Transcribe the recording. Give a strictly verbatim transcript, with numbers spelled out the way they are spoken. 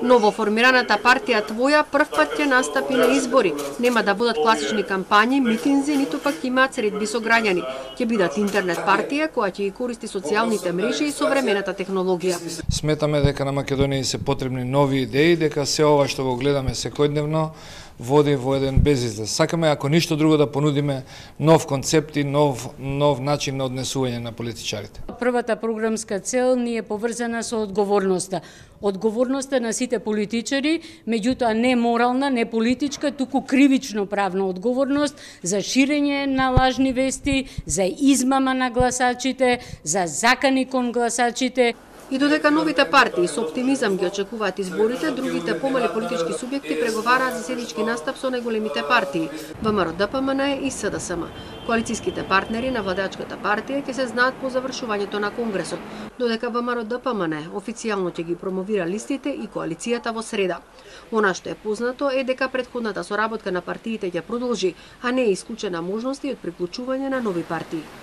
Новоформираната партија Твоја прв пат ќе настапи на избори. Нема да будат класични кампањи, митинзи, ниту пак ќе имаат средби со граѓани. Ќе бидат интернет партија која ќе ги користи социјалните мрежи и современата технологија. Сметаме дека на Македонија се потребни нови идеи, дека се ова што го гледаме секојдневно води во еден безизлез. Сакаме, ако ништо друго, да понудиме нов концепт и нов, нов начин на однесување на политичарите. Првата програмска цел ни е поврзана со одговорноста. Одговорноста на сите политичари, меѓутоа не морална, не политичка, туку кривично правна одговорност за ширење на лажни вести, за измама на гласачите, за закани кон гласачите. И додека новите партии со оптимизам ги очекуваат изборите, другите помали политички субјекти преговараат за седнички настап со најголемите партии ВМРО-ДПМН и СДСМ. Коалицијските партнери на владеачката партија ќе се знаат по завршувањето на конгресот, додека ВМРО-ДПМН официјално ќе ги промовира листите и коалицијата во среда. Она што е познато е дека претходната соработка на партиите ќе продолжи, а не е исклучена можност и од приклучување на нови партии.